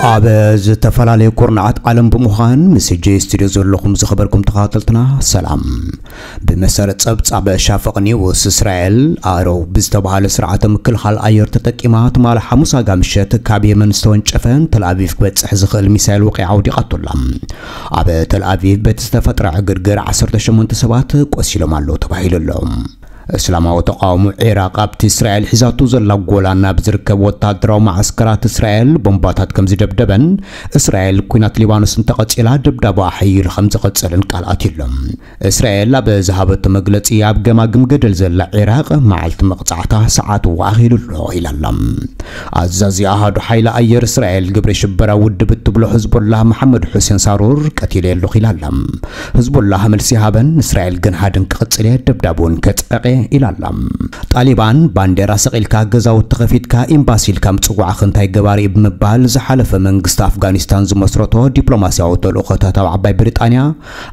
ኣብ ዝተፈላለዩ ኩርናዓት ዓለም ብምዃን ምስ ሕጂ ስቱድዮ ዘለኹም ዝኸበርኩም ተኸታተልትና ሰላም። ብመሰረት ጸብጻብ ሻፍቕ ኒውስ፣ እስራኤል ኣሮው ብዝተባሃለ ስርዓተ ምክልኻል ኣየር ተጠቂማ ትማሊ ሓሙስ ኣጋ ምሸት ካብ የመን ዝተወንጨፈ ንተል ኣቪቭ ክበጽሕ ዝኽእል ሚሳይል ወቒዓ ኣውዲቓቶ ኣላ። ኣብ ተል ኣቪቭ በቲ ዝተፈጥረ ዕግርግር ዓሰርተ ሸሞንተ ሰባት ቆሲሎም ኣለዉ ተባሂሉ ኣሎ። እስላማዊ ተቃውሞ ዒራቕ ኣብቲ እስራኤል ሒዛቶ ዘላ ጎላን ኣብ ዝርከብ ወታደራዊ መዓስከራት እስራኤል ቦምባታት ከም ዝደብደበን እስራኤል ኲናት ሊባኖስ እንተቐጺላ ደብዳባ ሓይሉ ከም ዝቐጸልን ቃል ኣትዩሎም። እስራኤል ኣብ ዝሃበቶ መግለጺ ኣብ ገማግም ገደል ዘላ ዒራቕ መዓልቲ መቕጻዕታ ሰዓት ኣኺሉ ኣሎ ኢላ ኣላ። ኣዛዚ ኣሃዱ ሓይሊ ኣየር እስራኤል ግብረ ሽበራ ውድብ እትብሎ ሕዝቦላህ መሓመድ ሑሴን ሳሩር ቀቲለ ኣለኹ ኢላ ኣላ። ሕዝቦላህ መልሲ ሃበን፣ እስራኤል ግን ሃደን ክቕጽል እየ፣ ደብዳብ እውን ከጽዕቕ እየ ኢላ ኣላ። ጣሊባን ባንዴራ ሰቒልካ፣ ገዛውቲ ከፊትካ፣ ኤምባሲ ኢልካ ምጽዋዕኺ እንታይ ገባሪ እዩ ብምባል ዝሓለፈ መንግስቲ ኣፍጋኒስታን ዝመስረቶ ዲፕሎማስያዊ ተልእኾታት ኣብ ዓባይ ብሪጣንያ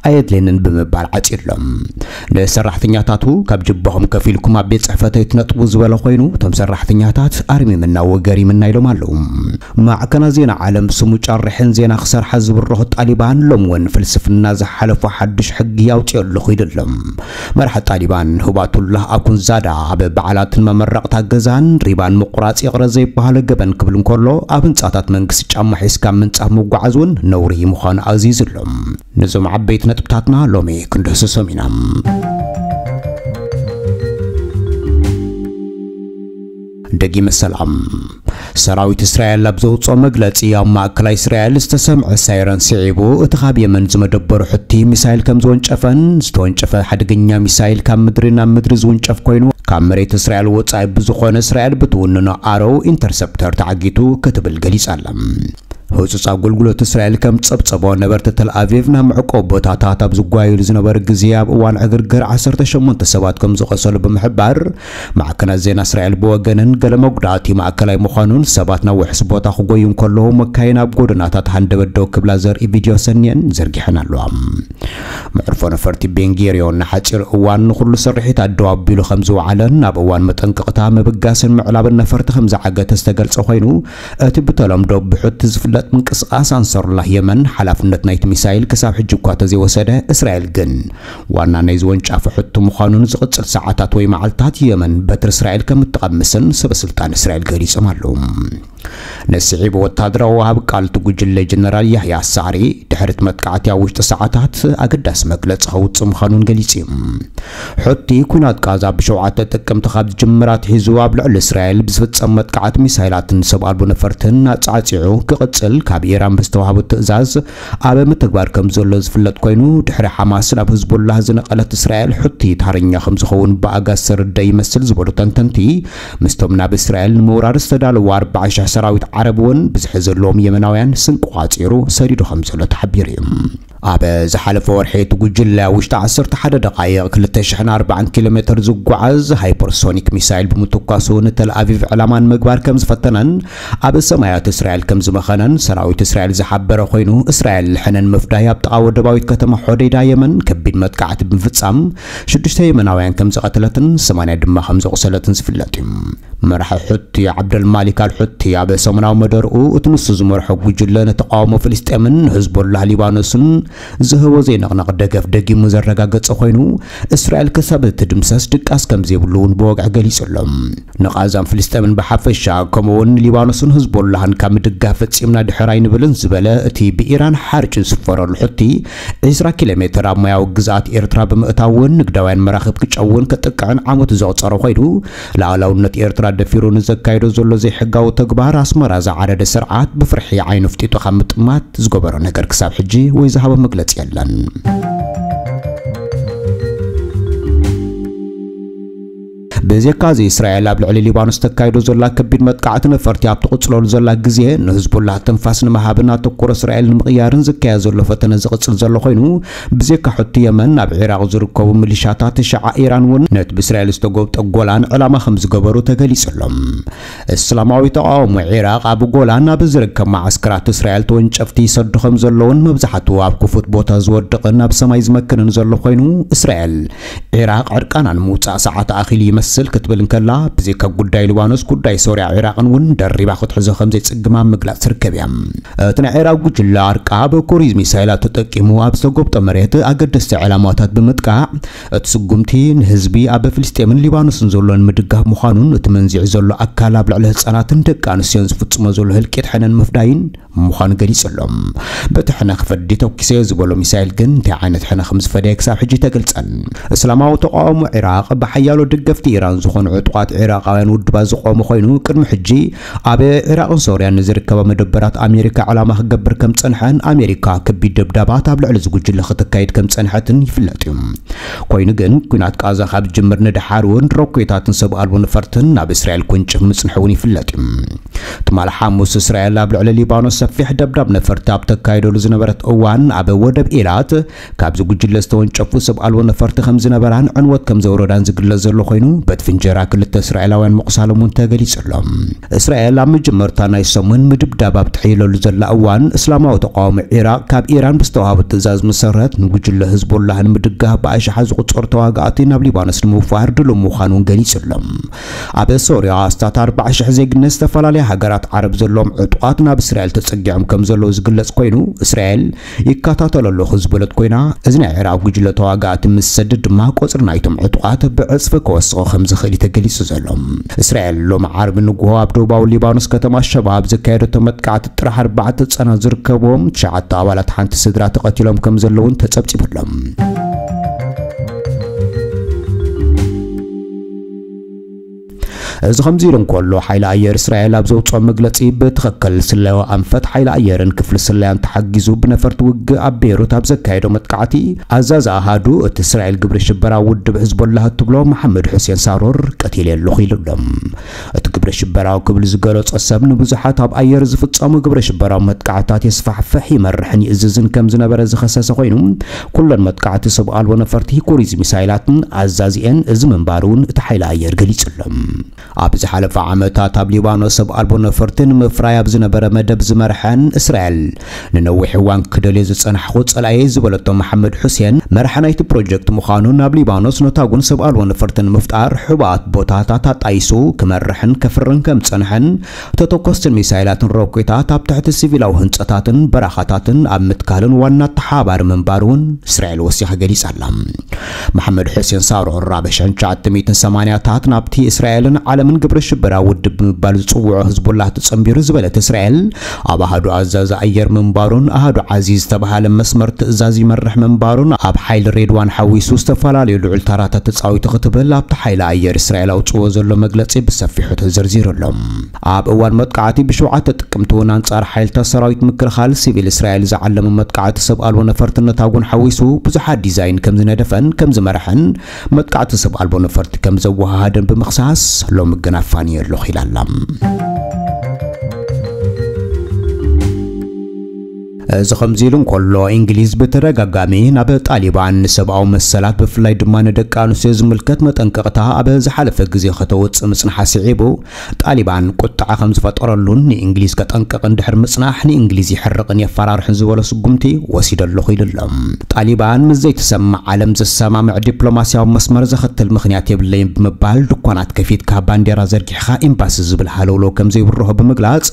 ኣየድልየንን ብምባል ዓጺዩሎም። ንሰራሕተኛታቱ ካብ ጅባኹም ከፊልኩም ኣብ ቤት ጽሕፈተይ ትነጥቡ ዝበለ ኮይኑ፣ እቶም ሰራሕተኛታት ኣርሚምና ወገሪምና ኢሎም ኣለዉ። ማዕከናት ዜና ዓለም ስሙ ጨርሕን ዜና ክሰርሓ ዝብረኹ ጣሊባን ሎም እውን ፍልስፍና ዝሓለፎ ሓድሽ ሕጊ ኣውጺኦ ኣለኹ ኢሉ ኣሎ። መራሒ ጣሊባን ሁባቱላህ ኣኩንዛዳ ኣብ በዓላትን መመረቕታ ገዛን ሪባን ምቑራጽ ይቕረ ዘይበሃሎ ገበን ክብል እንከሎ፣ ኣብ ህንጻታት መንግስቲ ጫማ ሒዝካ ምንጻፍ ምጓዓዝ እውን ነውሪ ምዃኑ ኣዚዙ ኣሎ። ነዞም ዓበይቲ ነጥብታትና ሎሚ ክንድህስሶም ኢና። ደጊመ ሰላም። ሰራዊት እስራኤል ኣብ ዘውፅኦ መግለፂ፣ ኣብ ማእከላይ እስራኤል ዝተሰምዐ ሳይረን ስዒቡ፣ እቲ ካብ የመን ዝመደበሩ ሕቲ ሚሳይል ከም ዝወንጨፈን፣ ዝተወንጨፈ ሓደገኛ ሚሳይል ካብ ምድሪ ናብ ምድሪ ዝውንጨፍ ኮይኑ፣ ካብ መሬት እስራኤል ወፃኢ ብዝኾነ እስራኤል ብትውንኖ ኣረው ኢንተርሰፕተር ተዓጊቱ ክትብል ገሊጻ ኣላ። ህጹጽ ኣገልግሎት እስራኤል ከም ጸብጸቦ፣ ነበርቲ ተል ኣቪቭ ናብ መዕቆቢ ቦታታት ኣብ ዝጓየሉ ዝነበሩ ግዜ፣ ኣብ እዋን ዕግርግር ዓሰርተ ሸሞንተ ሰባት ከም ዝቖሰሉ ብምሕባር፣ ማዕከናት ዜና እስራኤል ብወገነን፣ ገለ መጉዳእቲ ማእከላይ ምዃኑን ሰባት ናብ ውሑስ ቦታ ክጎዩ እንከለዉ፣ መካይን ኣብ ጎደናታት ሃንደበት ደው ክብላ ዘርኢ ቪድዮ ሰንየን ዘርጊሐን ኣለዋ። መዕርፎ ነፈርቲ ቤንጌርዮን ንሓጺር እዋን ንኹሉ ስርሒታት ደው ኣቢሉ ከም ዝወዓለን፣ ኣብ እዋን መጠንቀቕታ ምብጋስን ምዕላብን ነፈርቲ ከም ዝዓገተ ዝተገልጸ ኮይኑ፣ እቲ ብተለምዶ ብሑቲ ዝፍለጥ ምንቅስቓስ ኣንሳሩላህ የመን፣ ሓላፍነት ናይቲ ሚሳይል ክሳብ ሕጂ እኳ ተዘይወሰደ፣ እስራኤል ግን ዋና ናይ ዝወንጫፊ ሕቲ ምዃኑን ዝቕጽል ሰዓታት ወይ መዓልታት የመን በትሪ እስራኤል ከም እትቐምስን ሰበ ስልጣን እስራኤል ገሊጾም ኣለዉ። ነስዒቡ ወታደራዊ ወሃቢ ቃል እቲ ጉጅለ ጀነራል ያህያ ሳሪ፣ ድሕሪ እቲ መጥቃዕቲ ኣብ ውሽጢ ሰዓታት ኣገዳሲ መግለጺ ከውጽእ ምዃኑን ገሊጹ እዩ። ሑቲ፣ ኲናት ቃዛ ብሸውዓተ ጥቅምቲ ካብ ዝጅምር ኣትሒዙ ኣብ ልዕሊ እስራኤል ብዝፍጸም መጥቃዕቲ ሚሳይላትን ሰብ ኣልቦ ነፈርትን ኣጻዕጺዑ ክቕጽል ካብ ኢራን ብዝተዋህቦ ትእዛዝ ኣብ ምትግባር ከም ዘሎ ዝፍለጥ ኮይኑ፣ ድሕሪ ሓማስ ናብ ህዝቡላህ ዝነቐለት እስራኤል፣ ሑቲ ተሃርኛ ከም ዝኸውን ብኣጋ ዝተረደ ይመስል ዝበሉ ተንተንቲ፣ ምስቶም ናብ እስራኤል ንምውራር ዝተዳለዉ ኣርባዓ ሽሕ ሰራዊት ዓረብ እውን ብዝሒ ዘለዎም የመናውያን ስንቂ ቋጺሩ ሰዲዱ ከም ዘሎ ተሓቢሩ እዩ። ኣብ ዝሓለፈ ወርሒ እቲ ጉጅለ ውሽጢ ዓሰርተ ሓደ ደቓይቕ ክልተ ሽሕን ኣርባዓን ኪሎ ሜትር ዝጓዓዝ ሃይፐርሶኒክ ሚሳይል ብምትኳሱ ንተል ኣቪቭ ዕላማ ንምግባር ከም ዝፈተነን ኣብ ሰማያት እስራኤል ከም ዝመኸነን ሰራዊት እስራኤል ዝሓበረ ኮይኑ፣ እስራኤል ሕነን ምፍዳይ ኣብ ጥቓ ወደባዊት ከተማ ሖዴዳ የመን ከቢድ መጥቃዕቲ ብምፍጻም ሽዱሽተ የመናውያን ከም ዝቐተለትን ሰማንያ ድማ ከም ዘቑሰለትን ዝፍለጥ እዩ። መራሒ ሑቲ ዓብደል ማሊክ ኣል ሑቲ ኣብ ሰሙናዊ መደርኡ፣ እቲ ንሱ ዝመርሖ ጉጅለ ንተቃውሞ ፍልስጤምን ንህዝቦላህ ሊባኖስን ዝህቦ ዘይንቕነቕ ደገፍ ደጊሙ ዘረጋገጸ ኮይኑ፣ እስራኤል ክሳብ እትድምሰስ ድቃስ ከም ዘይብሉ እውን ብወግዒ ገሊጹ ኣሎ። ንቓዛን ፍልስጤምን ብሓፈሻ፣ ከምኡውን ሊባኖስን ህዝቦላህን ካብ ምድጋፍ ፈጺምና ድሕር ኣይንብልን ዝበለ እቲ ብኢራን ሓርጭ ዝስፈረሉ ሑቲ፣ ዕስራ ኪሎ ሜትር ኣብ ማያዊ ግዝኣት ኤርትራ ብምእታውን ንግዳውያን መራኽብ ክጨውን ከጥቅዕን ዓመቱ ዘቑጸረ ኮይኑ፣ ላዕላውነት ኤርትራ ደፊሩ ንዘካይዶ ዘሎ ዘይሕጋዊ ተግባር ኣስመራ ዝዓረደ ስርዓት ብፍርሒ ዓይኑ ፍጢጡ ካብ ምጥማት ዝገበሮ ነገር ክሳብ ሕጂ ወይ ዝሃቦ መግለጺ የለን። ብዘይካዚ፣ እስራኤል ኣብ ልዕሊ ሊባኖስ ተካይዶ ዘላ ከቢድ መጥቃዕቲ ነፈርቲ ኣብ ትቕጽለሉ ዘላ ግዜ፣ ንህዝቡላህ ትንፋስ ንምሃብን ኣተኩሮ እስራኤል ንምቕያርን ዝካየድ ዘሎ ፈተነ ዝቕጽል ዘሎ ኮይኑ፣ ብዘይካ ሑቲ የመን፣ ኣብ ዒራቕ ዝርከቡ ሚሊሻታት ሸዓ ኢራን እውን ነቲ ብእስራኤል ዝተጎብጠ ጎላን ዕላማ ከም ዝገበሩ ተገሊጹ ኣሎ። እስላማዊ ተቃውሞ ዒራቕ ኣብ ጎላን ኣብ ዝርከብ መዓስከራት እስራኤል ተወንጨፍቲ ይሰዱ ከም ዘለውን፣ መብዛሕትኡ ኣብ ክፉት ቦታ ዝወድቕን ኣብ ሰማይ ዝመክንን ዘሎ ኮይኑ፣ እስራኤል ዒራቕ ዕርቃና ንምውጻእ ሰዓት ኣኺሉ ይመስል። ክትብል እንከላ፣ ብዘይካ ጉዳይ ሊባኖስ፣ ጉዳይ ሶርያ፣ ዒራቕን እውን ደሪባ ክትሕዞ ከም ዘይጽግማ ምግላጽ ትርከብ እያ። እቲ ናይ ዒራቕ ጉጅለ ኣርቃብ ክሩዝ ሚሳይላት ተጠቂሙ ኣብ ዝተጎብጠ መሬት ኣገደስቲ ዕላማታት ብምጥቃዕ፣ እቲ ስጉምቲ ንህዝቢ ኣብ ፍልስጤምን ሊባኖስን ዘሎ ንምድጋፍ ምዃኑን፣ እቲ መንዚዑ ዘሎ ኣካል ኣብ ልዕሊ ህጻናትን ደቂ ኣንስትዮን ዝፍጽሞ ዘሎ ህልቂት ሕነ ንምፍዳይን ምዃኑ ገሊጹ ኣሎ። በቲ ሕነ ክፈዲ ተኩሰዮ ዝበሎ ሚሳይል ግን እንታይ ዓይነት ሕነ ከም ዝፈደየ ክሳብ ሕጂ ኣይተገልጸን። እስላማዊ ተቃውሞ ዒራቕ ብሓያሎ ደገፍቲ ኢራን ዝኾኑ ዕጡቓት ዒራቓውያን ውድባት ዝቆመ ኮይኑ፣ ቅድሚ ሕጂ ኣብ ዒራቕን ሶርያን ንዝርከባ መደበራት ኣሜሪካ ዕላማ ክገብር ከም ዝጸንሐን ኣሜሪካ ከቢድ ደብዳባት ኣብ ልዕሊ እዚ ጉጅለ ከተካይድ ከም ዝጸንሐትን ይፍለጥ እዩ። ኮይኑ ግን፣ ኲናት ቃዛ ካብ ዝጅምር ንደሓር እውን ሮኬታትን ሰብ ኣልቦ ነፈርትን ናብ እስራኤል ክውንጭፍ ምጽንሑ እውን ይፍለጥ እዩ። ትማሊ ሓሙስ፣ እስራኤል ኣብ ልዕሊ ሊባኖስ ሰፊሕ ደብዳብ ነፈርቲ ኣብ ተካይደሉ ዝነበረት እዋን፣ ኣብ ወደብ ኤላት ካብዚ ጉጅለ ዝተወንጨፉ ሰብ ኣልቦ ነፈርቲ ከም ዝነበራን ዕንወት ከም ዘውረዳን ዝግለጽ ዘሎ ኮይኑ፣ በቲ ፍንጀራ ክልተ እስራኤላውያን ምቑሳሎም እውን ተገሊጹ ኣሎ። እስራኤል ኣብ መጀመርታ ናይ ሰሙን ምድብዳብ ኣብ ትሕይለሉ ዘላ እዋን፣ እስላማዊ ተቃዋሚ ዒራቕ ካብ ኢራን ብዝተዋህቦ ትእዛዝ መሰረት፣ ንጉጅለ ህዝቦላህ ንምድጋፍ ብኣሽሓት ዝቑጸሩ ተዋጋእቲ ናብ ሊባኖስ ንምውፋር ድሉው ምዃኑ እውን ገሊጹ ኣሎ። ኣብ ሶርያ፣ ኣስታት ኣርባዓ ሽሕ ዜግነት ዝተፈላለያ ሃገራት ዓረብ ዘለዎም ዕጡቓት ናብ እስራኤል ተጸጊዖም ከም ዘለዉ ዝግለጽ ኮይኑ፣ እስራኤል ይከታተሎ ኣለኹ ዝበለት ኮይና፣ እዚ ናይ ዒራቕ ጉጅለ ተዋጋእቲ ምስ ዝሰድድ ድማ፣ ቁጽሪ ናይቶም ዕጡቓት ብዕጽፊ ክወስኾ ከም ዝኽእል እዩ ተገሊጹ ዘሎ። እስራኤል ሎሚ ዓርቢ ንግሆ ኣብ ደቡባዊ ሊባኖስ ከተማ ሸባ ኣብ ዘካየደቶ መጥቃዕቲ ጥራሕ ኣርባዕተ ህጻናት ዝርከብዎም ትሽዓተ ኣባላት ሓንቲ ስድራ ተቐቲሎም ከም ዘለውን ተጸብጺቡ ኣሎ። እዚ ከምዚ ኢሉ እንከሎ፣ ሓይሊ ኣየር እስራኤል ኣብ ዘውጽኦ መግለጺ፣ ብትኽክል ስለያዊ ኣንፈት ሓይሊ ኣየርን ክፍሊ ስለያን ተሓጊዙ ብነፈርቲ ውግእ ኣብ ቤይሩት ኣብ ዘካየዶ መጥቃዕቲ፣ ኣዛዚ ኣሃዱ እቲ እስራኤል ግብረ ሽበራ ውድብ ሕዝቦላህ እትብሎ መሓመድ ሑሴን ሳሮር ቀቲለ ኣለኹ ኢሉ ኣሎ። እቲ ግብረ ሽበራዊ ክብል ዝገለጾ ሰብ፣ ንብዙሓት ኣብ ኣየር ዝፍጸሙ ግብረ ሽበራዊ መጥቃዕትታት የስፋሕፍሕ፣ ይመርሕን ይእዝዝን ከም ዝነበረ ዝኸሰሰ ኮይኑ፣ ኩለን መጥቃዕቲ ሰብ ኣልቦ ነፈርቲ ክሩዝ ሚሳይላትን ኣዛዚኤን እዚ ምንባሩ እውን እቲ ሓይሊ ኣየር ገሊጹ ኣሎ። ኣብ ዝሓለፈ ዓመታት ኣብ ሊባኖስ ሰብ ኣልቦ ነፈርቲ ንምፍራይ ኣብ ዝነበረ መደብ ዝመርሐን እስራኤል ንነዊሕ እዋን ክደልዮ ዝጸናሕኩ ጸላእየ ዝበለቶ መሓመድ ሑሴን፣ መራሒ ናይቲ ፕሮጀክት ምዃኑን ኣብ ሊባኖስ ነታጉን ሰብ ኣልቦ ነፈርቲ ንምፍጣር ሕቡኣት ቦታታት ኣጣይሱ ክመርሕን ከፍርን ከም ዝጸንሐን፣ ተተኮስትን ሚሳይላትን ሮኬታት ኣብ ትሕቲ ሲቪላዊ ህንጸታትን በረኻታትን ኣብ ምትካልን ዋና ተሓባሪ ምንባሩ እውን እስራኤል ወሲኻ ገሊጻ ኣላ። መሓመድ ሑሴን ሳሮር ኣብ ሸንቻ ትሚትን ሰማንያታት ናብቲ እስራኤልን ዓለምን ግብረ ሽበራ ውድብ ብምባል ዝጽውዖ ህዝቡላህ ተጸንቢሩ ዝበለት እስራኤል፣ ኣብ ኣሃዱ ኣዛዚ ኣየር ምንባሩን ኣሃዱ ዓዚ ዝተባህለ መስመር ትእዛዝ ይመርሕ ምንባሩን፣ ኣብ ሓይሊ ሬድዋን ሓዊሱ ዝተፈላለዩ ልዑል ታራታት ተጻዊቱ ክትብል ኣብቲ ሓይሊ ኣየር እስራኤል ኣውጽዎ ዘሎ መግለጺ ብሰፊሑ ተዘርዚሩ ኣሎ። ኣብ እዋን መጥቃዕቲ ብሸውዓተ ጥቅምቲ እውን ኣንጻር ሓይልታት ሰራዊት ምክልኻል ሲቪል እስራኤል ዝዓለመ መጥቃዕቲ ሰብ ኣልቦ ነፈርቲ ነታጉን ሓዊሱ ብዙሓት ዲዛይን ከም ዝነደፈን ከም ዝመርሐን መጥቃዕቲ ሰብ ኣልቦ ነፈርቲ ከም ዘወሃሃደን ብምኽሳስ፣ ሎሚ ግን ኣፋንየ ኣለኹ ኢላ ኣላ። እዚ ከምዚ ኢሉ እንከሎ፣ እንግሊዝ ብተደጋጋሚ ናብ ጣሊባን ንሰብኣዊ መሰላት፣ ብፍላይ ድማ ንደቂ ኣንስትዮ ዝምልከት መጠንቀቕታ ኣብ ዝሓለፈ ግዜ ከተውጽእ ምጽንሓ ስዒቡ፣ ጣሊባን ቁጥዐ ከም ዝፈጠረሉን ንእንግሊዝ ከጠንቅቕ እንድሕር ምጽናሕ ንእንግሊዝ የሕርቕን የፈራርሕን ዝበሎ ስጉምቲ ወሲደ ኣለኹ ኢሉ ኣሎ። ጣሊባን ምስ ዘይተሰማዕ ዓለም ዘሰማምዕ ዲፕሎማስያዊ መስመር ዘኸትል ምኽንያት የብለይን ብምባል፣ ድኳናት ከፊትካ ባንዴራ ዘርጊሕኻ ኤምባሲ ዝብል ሃለውለው ከም ዘይብርሆ ብምግላጽ፣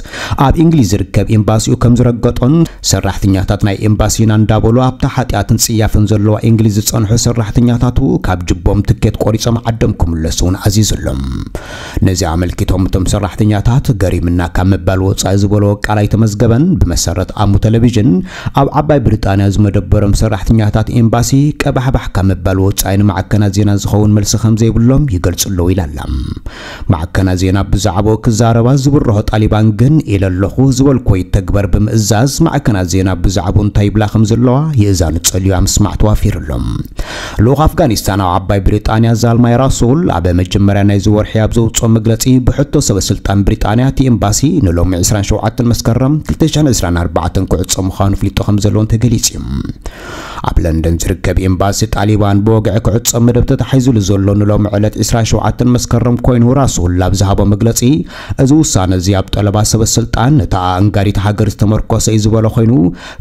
ኣብ እንግሊዝ ዝርከብ ኤምባሲኡ ከም ዝረገጦን፣ ሰራሕተኛታት ናይ ኤምባሲና እንዳበሉ ኣብታ ሓጢኣትን ጽያፍን ዘለዋ እንግሊዝ ዝጸንሑ ሰራሕተኛታቱ ካብ ጅቦም ትኬት ቆሪጾም ዓዶም ክምለሱ እውን ኣዚዙ ኣሎ። ነዚ ኣመልኪቶም እቶም ሰራሕተኛታት፣ ገሪምና ካብ ምባል ወጻኢ ዝበሎ ቃል ኣይተመዝገበን። ብመሰረት ኣሙ ቴሌቪዥን፣ ኣብ ዓባይ ብሪጣንያ ዝመደበሮም ሰራሕተኛታት ኤምባሲ ቀባሕባሕ ካብ ምባል ወጻኢ ንማዕከናት ዜና ዝኸውን መልሲ ከም ዘይብሎም ይገልጹ ኣለዉ ኢላ ኣላ። ማዕከናት ዜና ብዛዕባኡ ክዛረባ ዝብርሆ ጣሊባን ግን፣ ኢለ ኣለኹ ዝበልኮ ይተግበር ብምእዛዝ፣ ማዕከናት ዜና ብዛዕባኡ እንታይ ይብላ ከም ዘለዋ ይእዛኑ ጸልዩ ኣብ ምስማዕ ተዋፊሩ ኣሎ። ልኡኽ ኣፍጋኒስታን ኣብ ዓባይ ብሪጣንያ ዛልማይ ራሱል ኣብ መጀመርያ ናይዚ ወርሒ ኣብ ዘውጽኦ መግለጺ፣ ብሕቶ ሰበ ስልጣን ብሪጣንያ እቲ ኤምባሲ ንሎሚ ዕስራን ሸውዓተን መስከረም ክልተ ሽሕን ዕስራን ኣርባዕተን ክዕጾ ምዃኑ ኣፍሊጡ ከም ዘለውን ተገሊጹ እዩ። ኣብ ለንደን ዝርከብ ኤምባሲ ጣሊባን ብወግዒ ክዕጾ መደብ ተታሒዙሉ ዘሎ ንሎሚ ዕለት ዕስራን ሸውዓተን መስከረም ኮይኑ፣ ራሱል ኣብ ዝሃቦ መግለጺ፣ እዚ ውሳነ እዚ ኣብ ጠለባ ሰበ ስልጣን ነታ ኣእንጋዲት ሃገር ዝተመርኮሰ እዩ ዝበሎ ኮይኑ፣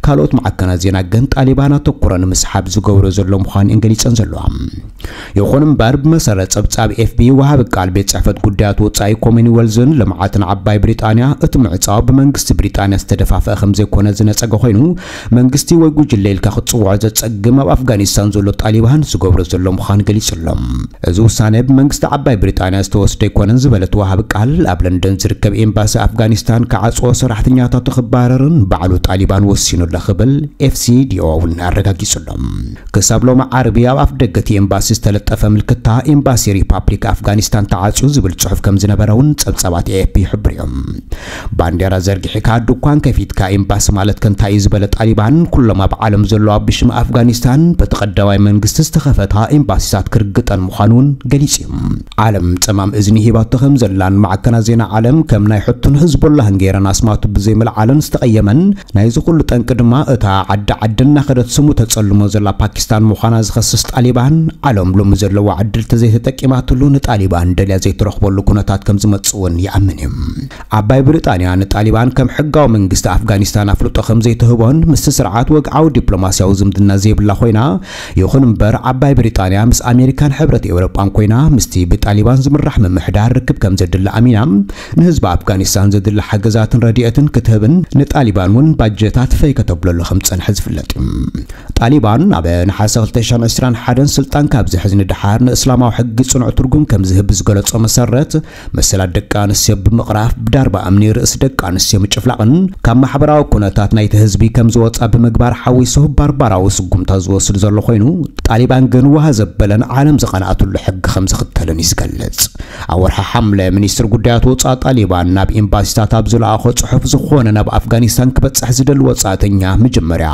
ካልኦት ማዕከናት ዜና ግን ጣሊባን ኣተኩሮ ንምስሓብ ዝገብሮ ዘሎ ምዃኑ እየን ገሊጸን ዘለዋ። ይኹን እምበር፣ ብመሰረት ጸብጻብ ኤፍቢ፣ ወሃቢ ቃል ቤት ጽሕፈት ጉዳያት ወጻኢ ኮመንዌልዝን ልምዓትን ዓባይ ብሪጣንያ፣ እቲ ምዕጻው ብመንግስቲ ብሪጣንያ ዝተደፋፈአ ከም ዘይኮነ ዝነጸገ ኮይኑ፣ መንግስቲ ወይ ጉጅለ ኢልካ ክትጽውዖ ዘጸግም ኣብ ኣፍጋኒስታን ዘሎ ጣሊባን ዝገብሮ ዘሎ ምዃኑ ገሊጹ ኣሎ። እዚ ውሳነ ብመንግስቲ ዓባይ ብሪጣንያ ዝተወስደ ኣይኮነን ዝበለት ወሃቢ ቃል፣ ኣብ ለንደን ዝርከብ ኤምባሲ ኣፍጋኒስታን ክዓጽዎ፣ ሰራሕተኛታቱ ክባረርን ባዕሉ ጣሊባን ወሲኑ ኣሎ ክብል ኤፍሲዲኦ እውን ኣረጋጊጹ ኣሎ። ክሳብ ሎሚ ዓርቢ ኣብ ኣፍ ደገ እቲ ኤምባሲ ዝተለጠፈ ምልክታ ኤምባሲ ሪፓብሊክ ኣፍጋኒስታን ተዓጽዩ ዝብል ጽሑፍ ከም ዝነበረ እውን ጸብጻባት ኤኤፍፒ ይሕብሩ እዮም። ባንዴራ ዘርጊሕካ ድኳን ከፊትካ ኤምባሲ ማለት ከ እንታይ እዩ ዝበለ ጣሊባን፣ ኩሎም ኣብ ዓለም ዘለዋ ብሽም ኣፍጋኒስታን በቲ ቀዳማይ መንግስቲ ዝተኸፈታ ኤምባሲታት ክርግጠን ምዃኑ እውን ገሊጹ እዩ። ዓለም ጸማም እዝኒ ሂባቶ ከም ዘላን ማዕከናት ዜና ዓለም ከም ናይ ሕቱን ህዝቦላህን ገይረን ኣስማቱ ብዘይምልዓለን ዝተቐየመን፣ ናይዚ ኩሉ ጠንቂ ድማ እታ ዓዲ ዓዲ እናኸደት ስሙ ተጸልሞ ዘላ ፓኪስታን ምዃና ዝኸስስ ጣሊባን፣ ዓለም ሎሚ ዘለዋ ዕድል ተዘይተጠቂማትሉ ንጣሊባን ደልያ ዘይትረኽበሉ ኩነታት ከም ዝመጽእ እውን ይኣምን እዩ። ዓባይ ብሪጣንያ ንጣሊባን ከም ሕጋዊ መንግስቲ ኣፍጋኒስታን ኣፍልጦ ከም ዘይትህቦን ምስቲ ስርዓት ወግዓዊ ዲፕሎማስያዊ ዝምድና ዘይብላ ኮይና፣ ይኹን እምበር ዓባይ ብሪጣንያ ምስ ኣሜሪካን ሕብረት ኤውሮጳን ኮይና ምስቲ ብጣሊባን ዝምራሕ ምምሕዳር ርክብ ከም ዘድሊ ኣሚና፣ ንህዝቢ ኣፍጋኒስታን ዘድሊ ሓገዛትን ረድኤትን ክትህብን ንጣሊባን እውን ባጀታት ፈይ ከተብለሉ ከም ዝጸንሐ ዝፍለጥ እዩ። ጣሊባን ኣብ ነሓሰ ክልተ ሽሕን ዕስራን ሓደን ስልጣን ካብ ዝሕዝ ንደሓር ንእስላማዊ ሕጊ ጽኑዕ ትርጉም ከም ዝህብ ዝገለጾ መሰረት፣ መሰላት ደቂ ኣንስትዮ ብምቕራፍ ብዳርባ እምኒ ርእሲ ደቂ ኣንስትዮ ምጭፍላቕን ካብ ማሕበራዊ ኩነታት ናይቲ ህዝቢ ከም ዝወጻ ብምግባር ሓዊሱ ባርባራዊ ስጉምታ ዝወስድ ዘሎ ኮይኑ፣ ጣሊባን ግን ውሃ ዘበለን ዓለም ዝቐንኣትሉ ሕጊ ከም ዝኽተልን እዩ ዝገልጽ። ኣብ ወርሒ ሓምለ ሚኒስትር ጉዳያት ወጻኢ ጣሊባን ናብ ኤምባሲታት ኣብ ዝለኣኾ ጽሑፍ፣ ዝኾነ ናብ ኣፍጋኒስታን ክበጽሕ ዝደሊ ወጻእተኛ መጀመርያ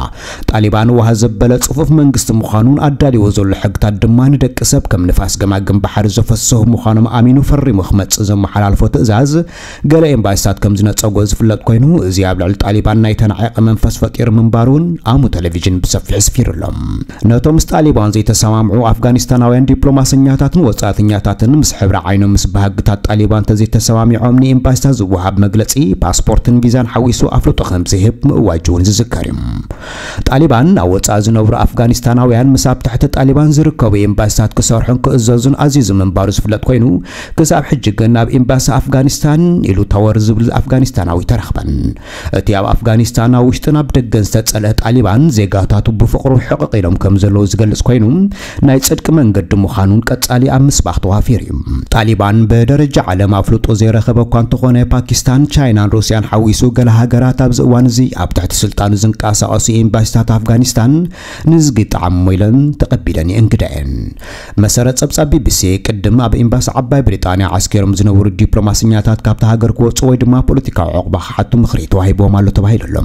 ጣሊባን ውሃ ዘበለ ጽፉፍ መንግስቲ ምዃኑን ኣዳልዎ ዘሎ ሕግታት ድማ ንደቂ ሰብ ከም ንፋስ ገማግም ባሕሪ ዘፈስሑ ምዃኖም ኣሚኑ ፈሪሙ ክመጽእ ዘመሓላልፎ ትእዛዝ ገለ ኤምባሲታት ከም ዝነጸጎ ዝፍለጥ ኮይኑ፣ እዚ ኣብ ልዕሊ ጣሊባን ናይ ተናዒቐ መንፈስ ፈጢሩ ምንባሩ እውን ኣሙ ቴሌቪዥን ብሰፊሑ ኣስፊሩ ኣሎ። ነቶም ምስ ጣሊባን ዘይተሰማምዑ ኣፍጋኒስታናውያን ዲፕሎማሰኛታትን ወጻእተኛታትን ምስ ሕብሪ ዓይኖም ምስ ባህግታት ጣሊባን ተዘይተሰማሚዖም ንኤምባሲታት ዝወሃብ መግለጺ ፓስፖርትን ቪዛን ሓዊሱ ኣፍልጦ ከም ዝህብ ምእዋጁ እውን ዝዝከር እዩ። ጣሊባን ኣብ ወጻኢ ዝነብሩ ኣፍጋኒስታናውያን ምስ ኣብ ትሕቲ ጣሊባን ዝርከቡ ኤምባሲታት ክሰርሑን ክእዘዙን ኣዚዙ ምንባሩ ዝፍለጥ ኮይኑ፣ ክሳብ ሕጂ ግን ኣብ ኤምባሲ ኣፍጋኒስታን ኢሉ ታወር ዝብል ኣፍጋኒስታናዊ ተረኽበን። እቲ ኣብ ኣፍጋኒስታን ኣብ ውሽጥን ኣብ ደገን ዝተጸልአ ጣሊባን ዜጋታቱ ብፍቕሩ ሕቕቕ ኢሎም ከም ዘለዉ ዝገልጽ ኮይኑ፣ ናይ ጽድቂ መንገዲ ምዃኑን ቀጻሊ ኣብ ምስባኽ ተዋፊሩ እዩ። ጣሊባን ብደረጃ ዓለም ኣፍልጦ ዘይረኸበ እኳ እንተኾነ፣ ፓኪስታን፣ ቻይናን ሩስያን ሓዊሱ ገለ ሃገራት ኣብዚ እዋን እዚ ኣብ ትሕቲ ስልጣኑ ዝንቀሳቐሱ ኤምባሲታት ኣፍጋኒስታን ንዝጊ ጠዓሞ ኢለን ተቐቢለን የእንግዳ እየን። መሰረት ጸብጻብ ቢቢሲ፣ ቅድም ኣብ ኤምባሲ ዓባይ ብሪጣንያ ዓስኪሮም ዝነበሩ ዲፕሎማሰኛታት ካብታ ሃገር ክወጹ ወይ ድማ ፖለቲካዊ ዕቑባ ክሓቱ ምኽሪ ተዋሂብዎም ኣሎ ተባሂሉ ኣሎ።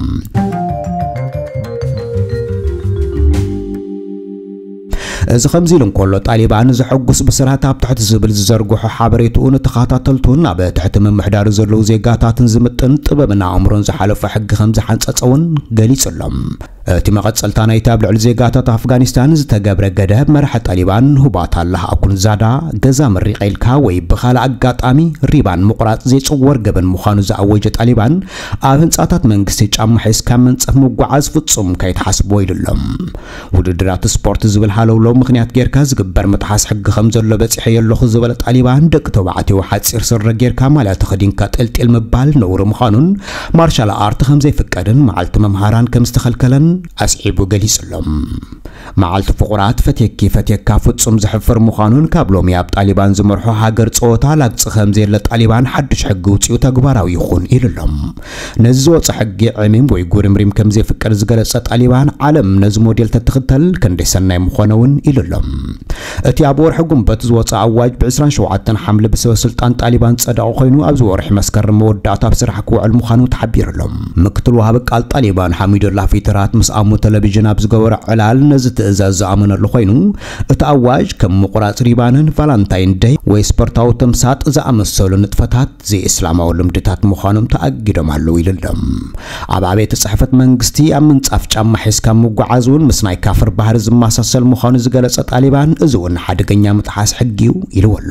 እዚ ከምዚ ኢሉ እንከሎ፣ ጣሊባን ዘሐጉስ ብስራት ኣብ ትሕቲ ዝብል ዝዘርግሖ ሓበሬትኡ ንተኸታተልቱን ኣብ ትሕቲ ምምሕዳሩ ዘለዉ ዜጋታትን ዝምጥን ጥበብን ኣእምሮን ዝሓለፎ ሕጊ ከም ዝሓንጸጸ እውን ገሊጹ ኣሎ። እቲ መቐጸልታ ናይቲ ኣብ ልዕሊ ዜጋታት ኣፍጋኒስታን ዝተገብረ ገደብ፣ መራሒ ጣሊባን ሁባታላህ ኣኩንዛዳ፣ ገዛ መሪቐ ኢልካ ወይ ብኻልእ ኣጋጣሚ ሪባን ምቑራጽ ዘይጽወር ገበን ምዃኑ ዝኣወጀ ጣሊባን፣ ኣብ ህንጻታት መንግስቲ ጫማ ሒዝካ መንጸፍ ምጓዓዝ ፍጹም ከይትሓስብዎ ኢሉ ኣሎ። ውድድራት ስፖርት ዝብል ሃለውለው ምኽንያት ጌርካ ዝግበር ምጥሓስ ሕጊ ከም ዘሎ በጺሐዮ ኣለኹ ዝበለ ጣሊባን፣ ደቂ ተባዕትዮ ሓጺር ስረ ጌርካ ማልያ ተኸዲንካ ጥልጢል ምባል ነውሪ ምዃኑን ማርሻል ኣርት ከም ዘይፍቀድን መዓልቲ መምሃራን ከም ዝተኸልከለን ኣስዒቡ ገሊጹ ኣሎ። መዓልቲ ፍቑራት ፈትየኪ ፈትየካ ፍጹም ዘሕፍር ምዃኑን ካብ ሎሚ ኣብ ጣሊባን ዝመርሖ ሃገር ጸወታ ላግጺ ከም ዘየለ ጣሊባን ሓድሽ ሕጊ ውጺኡ ተግባራዊ ይኹን ኢሉ ኣሎ። ነዚ ዝወጸ ሕጊ ዕሚም ወይ ጉርምሪም ከም ዘይፍቀድ ዝገለጸ ጣሊባን፣ ዓለም ነዚ ሞዴል ተትኽተል ክንደይ ሰናይ ምኾነ እውን ኢሉ ኣሎ። እቲ ኣብ ወርሒ ጉንበት ዝወጸ ኣዋጅ ብ ዕስራን ሸውዓተን ሓምለ ብሰበ ስልጣን ጣሊባን ዝጸደቐ ኮይኑ፣ ኣብዚ ወርሒ መስከረም መወዳእታ ኣብ ስራሕ ክውዕል ምዃኑ ተሓቢሩ ኣሎ። ምክትል ወሃቢ ቃል ጣሊባን ሓሚዱላ ፊትራት ምስ ኣሙ ቴሌቪዥን ኣብ ዝገበሮ ዕላል፣ ነዚ ትእዛዝ ዝኣመነሉ ኮይኑ፣ እቲ ኣዋጅ ከም ምቑራጽ ሪባንን ቫላንታይን ደይ ወይ ስፖርታዊ ተምሳጥ ዝኣመሰሉ ንጥፈታት ዘይእስላማዊ ልምድታት ምዃኖም ተኣጊዶም ኣለዉ ኢሉ ኣሎ። ኣብ ኣብያተ ጽሕፈት መንግስቲ ኣብ ምንጻፍ ጫማ ሒዝካ ምጉዓዝ እውን ምስ ናይ ካፍር ባህሪ ዝመሳሰል ምዃኑ ዝገለጸ ጣሊባን፣ እዚ እውን ሓደገኛ ምጥሓስ ሕጊ እዩ ኢልዎ ኣሎ።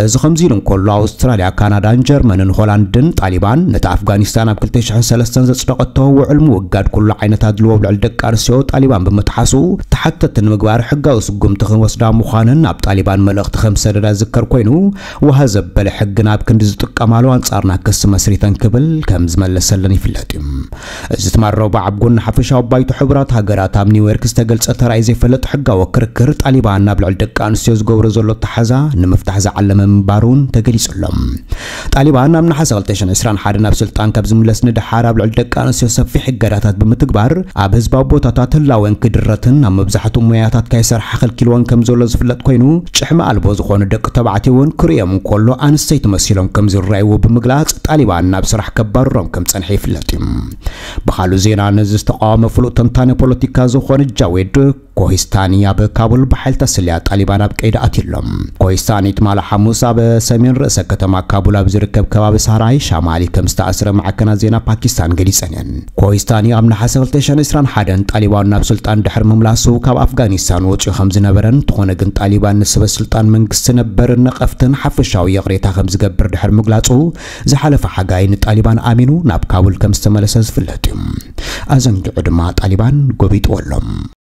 እዚ ከምዚ ኢሉ እንከሎ፣ ኣውስትራልያ፣ ካናዳን ጀርመንን ሆላንድን ጣሊባን ነቲ ኣፍጋኒስታን ኣብ ክልተ ሽሕን ሰለስተን ዘጽደቐቶ ውዕል ምውጋድ ኩሉ ዓይነት ኣድልዎ ኣብ ልዕሊ ደቂ ኣንስትዮ ጣሊባን ብምጥሓሱ ተሓተቲ ንምግባር ሕጋዊ ስጉምቲ ክንወስዳ ምዃነን ኣብ ጣሊባን መልእኽቲ ከም ዝሰደዳ ዝዝከር ኮይኑ፣ ዋሃ ዘበለ ሕግን ኣብ ክንዲ ዝጥቀማሉ ኣንጻርና ክሲ መስሪተን ክብል ከም ዝመለሰለን ይፍለጥ እዩ። እዚ ትማል ረቡዕ ኣብ ጎኒ ሓፈሻዊ ባይቶ ሕቡራት ሃገራት ኣብ ኒውዮርክ ዝተገልጸ ተራእዩ ዘይፈልጥ ሕጋዊ ክርክር ጣሊባን ኣብ ልዕሊ ደቂ ኣንስትዮ ዝገብሮ ዘሎ ኣተሓዛ ንምፍታሕ ዝዓለመ ምንባሩን ተገሊጹ ኣሎ። ጣሊባን ኣብ ነሓሰ ክልተ ሽሕን ዕስራን ሓደን ናብ ስልጣን ካብ ዝምለስ ንደሓር ኣብ ልዕሊ ደቂ ኣንስትዮ ሰፊሕ እገዳታት ብምትግባር ኣብ ህዝባዊ ቦታታት ህላወን ክድረትን ኣብ መብዛሕትኡ ሞያታት ካይሰርሓ ከልኪልወን ከም ዘሎ ዝፍለጥ ኮይኑ፣ ጭሕሚ ኣልቦ ዝኾኑ ደቂ ተባዕትዮ እውን ክርእዮም እንከሎ ኣንስተይቲ መሲሎም ከም ዝረኣይዎ ብምግላጽ ጣሊባን ናብ ስራሕ ከባርሮም ከም ጸንሐ ይፍለጥ እዩ። ብኻልእ ዜና፣ ነዚ ዝተቃወመ ፍሉጥ ተንታኒ ፖለቲካ ዝኾነ ጃዌድ ኮሂስታኒ ኣብ ካቡል ብሓይልታት ስለያ ጣሊባን ኣብ ቀይዲ ኣትዩ ኣሎ። ኮሂስታኒ ትማሊ ሓሙስ ኣብ ሰሜን ርእሰ ከተማ ካቡል ኣብ ዝርከብ ከባቢ ሳራይ ሻማሊ ከም ዝተኣስረ ማዕከናት ዜና ፓኪስታን ገሊጸን እየን። ኮሂስታኒ ኣብ ነሓሰ ክልተ ሽሕን ዕስራን ሓደን ጣሊባን ናብ ስልጣን ድሕሪ ምምላሱ ካብ ኣፍጋኒስታን ወጺኡ ከም ዝነበረን፣ እንተኾነ ግን ጣሊባን ንሰበ ስልጣን መንግስቲ ነበር ነቐፍትን ሓፈሻዊ ይቕሬታ ከም ዝገብር ድሕሪ ምግላጹ፣ ዝሓለፈ ሓጋይ ንጣሊባን ኣሚኑ ናብ ካቡል ከም ዝተመለሰ ዝፍለጥ እዩ። ኣዘንጊዑ ድማ ጣሊባን ጎቢጥዎ ኣሎ።